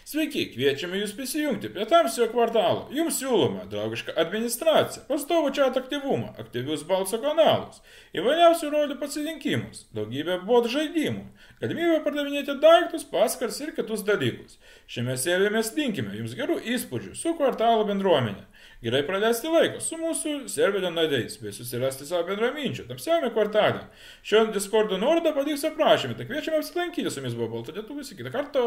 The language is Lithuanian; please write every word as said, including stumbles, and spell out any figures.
Sveiki, kviečiame Jūs prisijungti prie Tamsiojo kvartalo. Jums siūloma draugiška administracija, pastovų chat aktyvumą, aktyvius balso kanalus, įvairiausių rolių pasirinkimus, daugybę bot žaidimų, galimybę pardavinėti daiktus, paskars ir kitus dalykus. Šiame serijoje mes linkime Jums gerų įspūdžių su kvartalo bendruomenė. Gerai praleisti laiką su mūsų serverio nariais, bei susirasti savo bendraminčių tamsiajame kvartale. Šio Discordo nuorodą paliks aprašymę, tai kviečiame apsilankyti, su jumis buvo Baltų Lietuvys, iki kitą kartą.